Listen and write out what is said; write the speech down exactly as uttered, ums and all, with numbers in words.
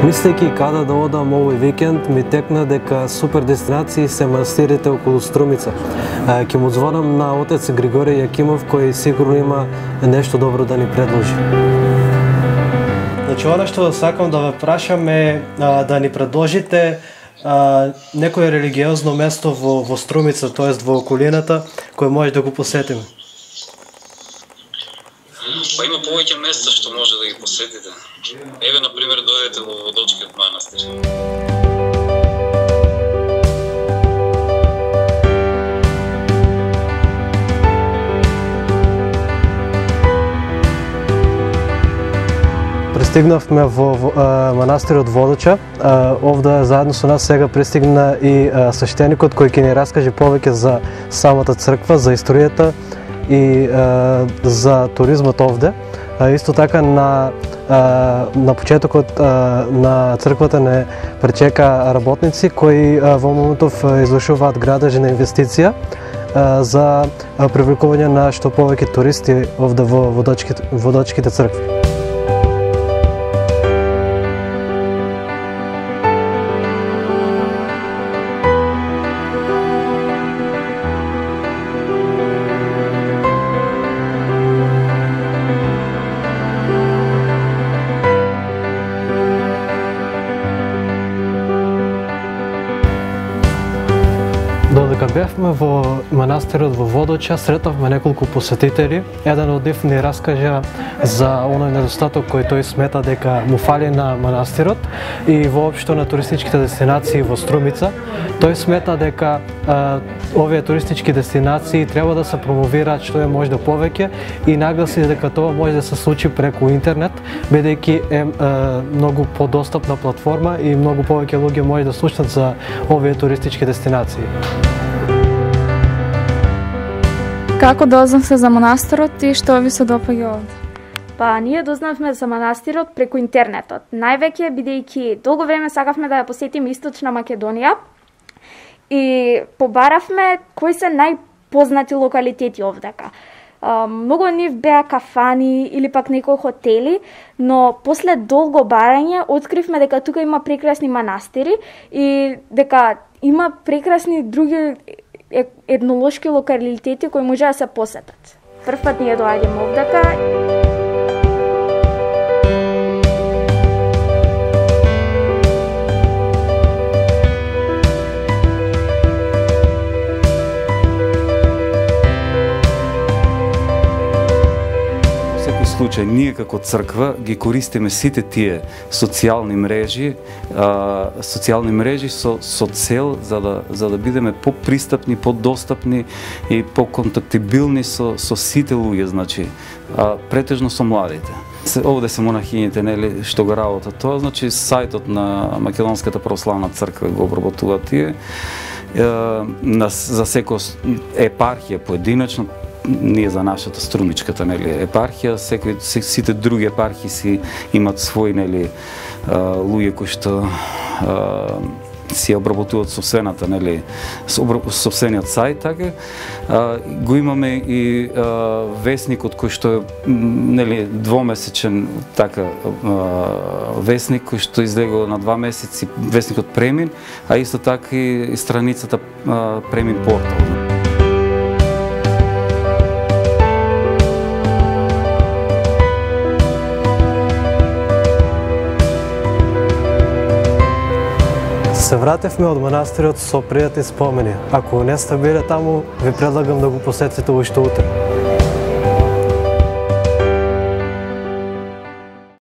Мислејќи каде да одам овој викенд, ми текна дека супер дестинации се манастирите околу Струмица. Ќе му звонам на отец Григорий Јакимов, кој сигурно има нешто добро да ни предложи. Значи, она што сакам да ве прашам е а, да ни предложите а, некое религиозно место во, во Струмица, тоест во околината, кој може да го посетиме. Па има повеќе места што може да ги посетите. Еве, например, дојдете во Водочкиот манастир. Пристигнавме во, во а, манастирот Водоча. А, овде заедно со нас сега пристигна и а, свештеникот кој ќе ни раскаже повеќе за самата црква, за историјата и а, за туризмот овде. А, исто така на а, на почетокот а, на црквата не пречека работници кои а, во моментов извршуваат градежи на инвестиција а, за привлекување на што повеќе туристи овде во Водочките, Водочките цркви. Додека бевме во манастирот во Водоча, сретавме неколку посетители. Еден од нив ни раскажа за оној недостаток кој тој смета дека му фали на манастирот и воопшто на туристичките дестинации во Струмица. Тој смета дека а, овие туристички дестинации треба да се промовираат што е можда повеќе и нагласи дека тоа може да се случи преку интернет, бидејќи е а, многу подостапна платформа и многу повеќе луѓе може да слушнат за овие туристички дестинации. Како дознавте за манастирот и што ви се допаѓа овде? Па, ние дознавме за манастирот преку интернетот. Највеќе бидејќи долго време сакавме да ја посетиме Источна Македонија и побаравме кои се најпознати локалитети овдека. А, многу од нив беа кафани или пак некои хотели, но после долго барање откривме дека тука има прекрасни манастири и дека има прекрасни други етнолошки локалитети кои може да се посетат. Првпат ние доаѓаме овдека. Случај, ние како црква ги користиме сите тие социјални мрежи, а, социјални мрежи со, со цел за да, за да бидеме попристапни, подостапни и поконтактибилни со, со сите луѓе, значи, а, претежно со младите. Овде се монахињите, нели, што го работат тоа, значи сајтот на Македонската православна црква го обработува тие, е, на, за секоја епархија поединечно, ние за нашата струмичката, нели, епархија, секој сите други епархии си имаат свои, нели, луѓе кои што а, си обработуваат собствената, нели, собствениот сајт, така. А, го имаме и а, весникот кој што е, нели, двомесечен така а, весник кој што излегува на два месеци, весникот Премин, а исто така и страницата а, Премин портал. Се вратевме од манастирот со пријатни спомени. Ако не сте биле таму, ви предлагам да го посетите уште утре.